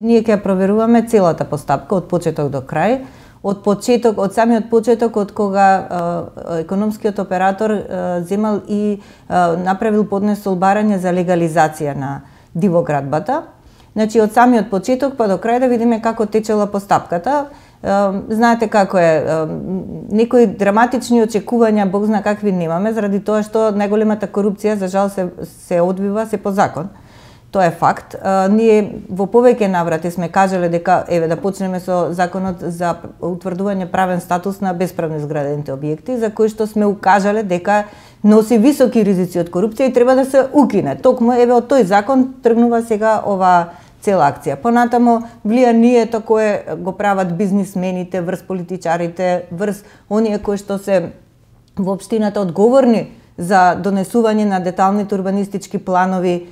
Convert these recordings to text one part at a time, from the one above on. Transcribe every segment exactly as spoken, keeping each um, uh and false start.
Ние ќе проверуваме целата постапка од почеток до крај, од почеток, од самиот почеток, од кога е, економскиот оператор е, земал и е, направил поднесол барање за легализација на дивоградбата. Значи, од самиот почеток па до крај да видиме како течела постапката. Е, знаете како е, е, некои драматични очекувања, Бог зна какви немаме, заради тоа што најголемата корупција, за жал, се, се одбива се по закон. Тоа е факт. А, ние во повеќе наврати сме кажале дека еве да почнеме со законот за утврдување правен статус на бесправно изградените објекти, за кои што сме укажале дека носи високи ризици од корупција и треба да се укине. Токму еве од тој закон тргнува сега ова цела акција. Понатамо влијанието кое го прават бизнисмените врз политичарите, врз оние кои што се во општината одговорни за донесување на деталните урбанистички планови.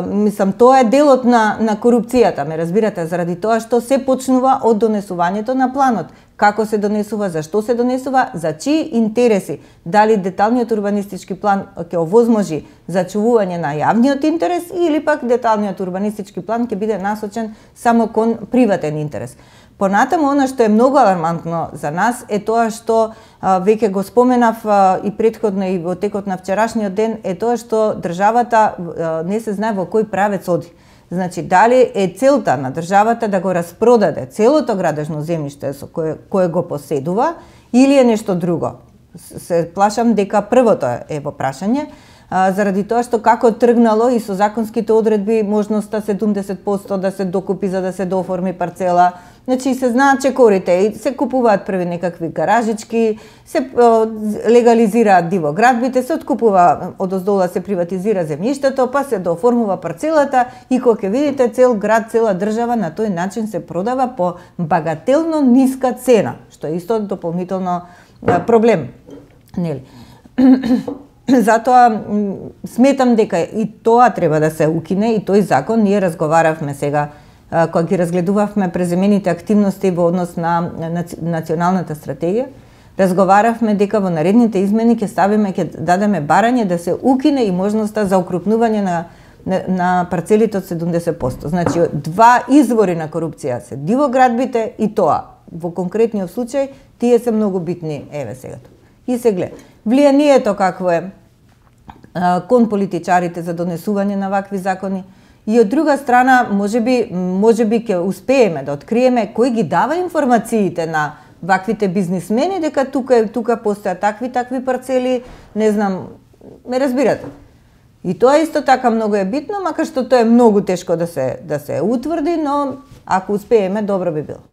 Мислам, тоа е делот на, на корупцијата, ме разбирате, заради тоа што се почнува од донесувањето на планот. Како се донесува, зашто се донесува, за чии интереси, дали деталниот урбанистички план ќе овозможи зачувување на јавниот интерес или пак деталниот урбанистички план ќе биде насочен само кон приватен интерес. Понатаму, она што е многу алармантно за нас е тоа што а, веќе го споменав а, и претходно и во текот на вчерашниот ден, е тоа што државата а, не се знае во кој правец оди. Значи, дали е целта на државата да го распродаде целото градежно земјиште со кое, кое го поседува, или е нешто друго? Се плашам дека првото е во прашање, а, заради тоа што како тргнало и со законските одредби можноста седумдесет проценти да се докупи за да се дооформи парцела. Значи, се знаат чекорите и се купуваат први некакви гаражички, се легализираат дивоградбите, се откупува одоздола, се приватизира земјиштето, па се дооформува парцелата и кога ќе видите цел град, цела држава на тој начин се продава по багателно ниска цена, што е исто дополнително проблем. Нели? Затоа сметам дека и тоа треба да се укине и тој закон. Ние разговаравме сега кога ги разгледувавме преземените активности во однос на националната стратегија, разговаравме дека во наредните измени ќе ставиме, ќе дадеме барање да се укине и можноста за укрупнување на, на, на парцелите од седумдесет проценти. Значи, два извори на корупција се дивоградбите и тоа. Во конкретниот случај, тие се многу битни, еве сега. И се гледа. Влијанието какво е а, кон политичарите за донесување на вакви закони. И од друга страна, можеби, можеби ќе успееме да откриеме кој ги дава информациите на ваквите бизнисмени, дека тука, тука постојат такви, такви парцели, не знам, ме разбирате. И тоа исто така многу е битно, макар што тоа е многу тешко да се, да се утврди, но ако успееме, добро би било.